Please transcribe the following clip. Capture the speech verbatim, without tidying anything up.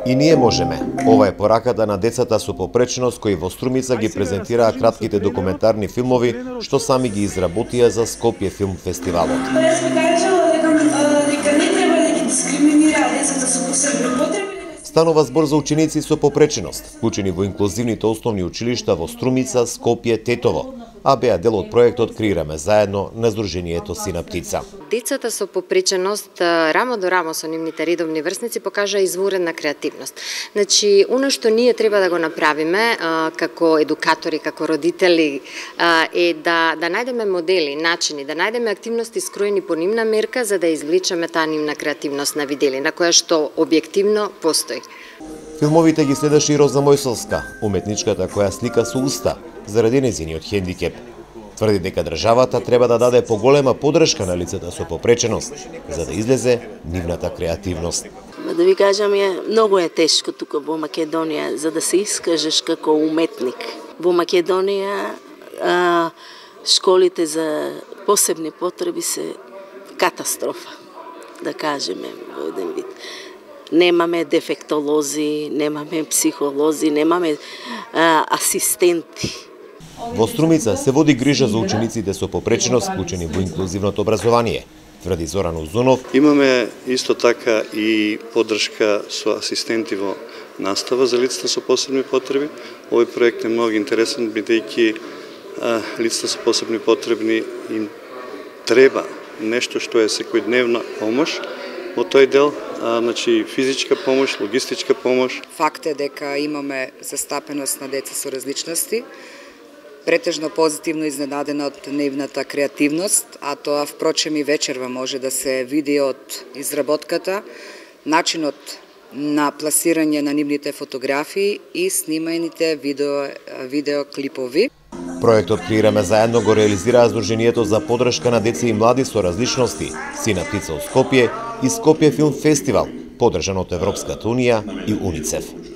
И ние можеме. Ова е пораката на децата со попреченост кои во Струмица ги презентираа кратките документарни филмови што сами ги изработија за Скопје филм фестивалот. Јас би кажала дека не треба да ги дискриминира децата со посебни потреби. Станува збор за ученици со попреченост, вклучени во инклузивните основни училишта во Струмица, Скопје, Тетово, а беа дел од проектот Креираме заедно на Сдруженијето Синаптица. Децата со попреченост рамо до рамо со нивните редовни врсници покажа изворена креативност. Значи, оно што ние треба да го направиме а, како едукатори, како родители а, е да да најдеме модели, начини, да најдеме активности скроени по нивна мерка за да извлечеме таа нивна креативност на виделина која што објективно постои. Филмовите ги следеше и Роза Мојсовска, уметничката која слика со уста заради нејзиниот хендикеп. Тврди дека државата треба да даде поголема подршка на лицата со попреченост, за да излезе нивната креативност. Да ви кажам, е, многу е тешко тука во Македонија за да се искажеш како уметник. Во Македонија а, школите за посебни потреби се катастрофа, да кажеме во еден вид. Немаме дефектолози, немаме психолози, немаме а, асистенти. Во Струмица се води грижа за учениците со попреченост вклучени во инклузивното образование, тврди Зоран Узунов. Имаме исто така и поддршка со асистенти во настава за лицата со посебни потреби. Овој проект е многу интересен бидејќи лицата со посебни потребни им треба нешто што е секојдневна помош во тој дел, а, значи физичка помош, логистичка помош. Факт е дека имаме застапеност на деца со различности, претежно позитивно изненадена од нивната креативност, а тоа впрочем и вечерва може да се види од изработката, начинот на пласирање на нивните фотографии и сниманите видео, видеоклипови. Проектот Креираме заедно го реализираа Сдруженијето за поддршка на деца и млади со различности, Синаптица од Скопје и Скопје филм фестивал, поддржан од Европската унија и УНИЦЕФ.